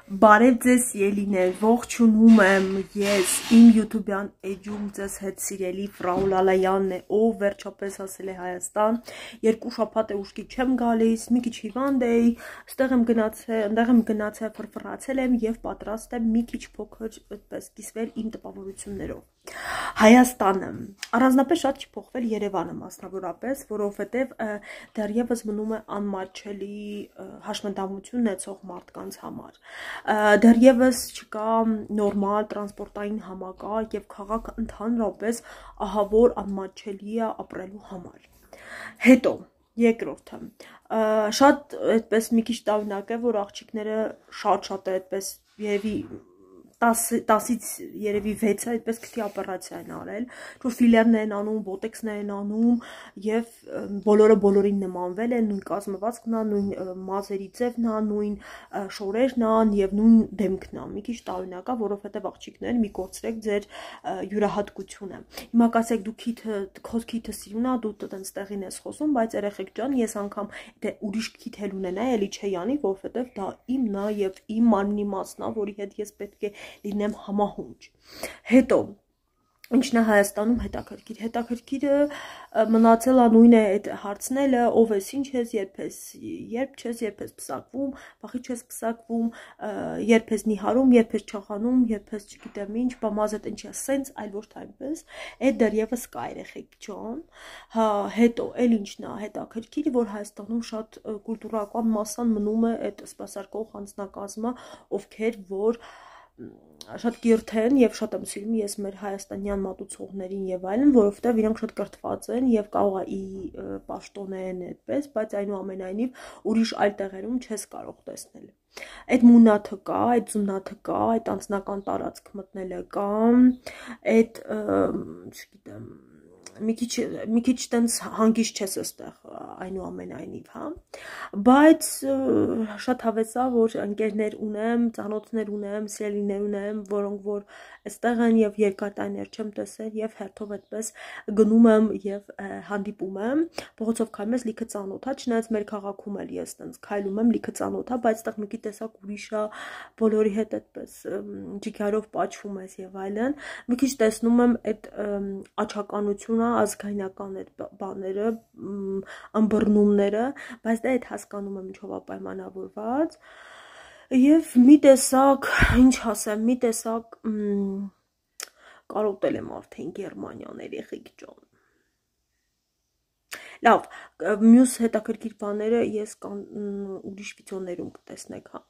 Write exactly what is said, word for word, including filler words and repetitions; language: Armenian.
Բարև ձեզ ելիներ, ողջունում եմ ես իմ YouTube-յան էջում ձեզ հետ սիրելի Ֆրաու Լալայանն է, ով վերջապես հասել է Հայաստան, երկու շաբաթ է ուշքի չեմ գալիս, մի քիչ հիվանդ էի, ստեղ եմ գնացել, ընդեղ եմ գնացել, ֆրֆրացել եմ եւ պատրաստ եմ մի քիչ փոքր այդպես կիսվել իմ տպավորություններով։ Հայաստանը առանձնապես շատ չի փոխվել Երևանը մասնավորապես, որովհետև դեռևս մնում է անմատչելի հաշմանդամություն ունեցող մարդկանց համար։ Դեռևս չկա նորմալ տրանսպորտային համակարգ եւ քաղաքը ընդհանրապես ահավոր անմատչելի է ապրելու համար։ Հետո երկրորդը շատ այդպես մի քիչ տարօրինակ է, որ աղջիկները շատ-շատ է այդպես երևի տասից երևի վեցը այդպես քթի օպերացիա են արել, որ ֆիլերներ են անում, բոտեքսներ են անում եւ բոլորը բոլորին նմանվել են, նույն կազմվածքն է, նույն մազերի ձևն է, նույն շորերն են եւ նույն դեմքն է։ Մի քիչ տարօրինակ է, որովհետեւ աղջիկներ մի կորցրեք ձեր յուրահատկությունը։ Հիմա կասեք դու քիթը քոսքիթը սիրուն է, դու տենց տեղին ես խոսում, բայց երեխեք ջան, ես անգամ դե ուրիշ քիթ էլ ունենա, էլի չի անի, որովհետեւ դա իմն է եւ իմ մարմնի մասն է, որի հետ ես պետք է լինեմ համահունչ։ Հետո ինչն է Հայաստանում հետաքրքիր, հետաքրքիրը մնացել է նույնը այդ հարցնելը, ով ես, ինչ ես, երբ ես, երբ չես, երբ ես պսակվում, բախի չես պսակվում, երբ ես նիհարում, երբ ես չախանում, երբ ես չգիտեմ ինչ, բամազդ ինչի է, սենց, այլ ոչ թե այնպես, այդ դեռևս կա երեխեք ջան, հա, հետո էլ ինչն է հետաքրքիր, որ Հայաստանում շատ կուլտուրական մասան մնում է այդ սպասարկող անձնակազմը, ովքեր որ շատ կիրթ են եւ շատ եմ սիրում ես մեր հայաստանյան մատուցողներին եւ այլն, որովհետեւ իրանք շատ կրթված են եւ կարող է ի պաշտոնեն այդպես, բայց այնուամենայնիվ ուրիշ այլ տեղերում չես կարող տեսնել։ Այդ մունաթը կա, այդ զունաթը կա, այդ անձնական տարածք մտնելը կա, այդ չգիտեմ մի քիչ մի քիչ տենց հանգիստ չես այստեղ այնուամենայնիվ, հա, բայց շատ հավես է, որ ընկերներ ունեմ, ծանոթներ ունեմ, սիրելիներ ունեմ, որոնք որ այստեղ են եւ երկար տարիներ չեմ տեսել եւ հերթով այդպես գնում եմ եւ հանդիպում եմ, փողոցով քայլում ես լիքը ծանոթ է, չնայած մեր քաղաքում էլ ես տենց քայլում եմ լիքը ծանոթ է, բայց այդտեղ մի քիչ տեսակ ուրիշ է, բոլորի հետ այդպես ջիգարով պատչվում ես եւ այլն, մի քիչ տեսնում եմ այդ աչականությունը ազգայնական այդ բաները, ըմբռնումները, բայց դա այդ հասկանում եմ ինչով է պայմանավորված եւ մի տեսակ, ինչ ասեմ, մի տեսակ կարոտել եմ արդեն Գերմանիան երեխեք ջան։ Լավ, մյուս հետաքրքիր բաները ես ուրիշ վիդեոներում կտեսնեք, հա։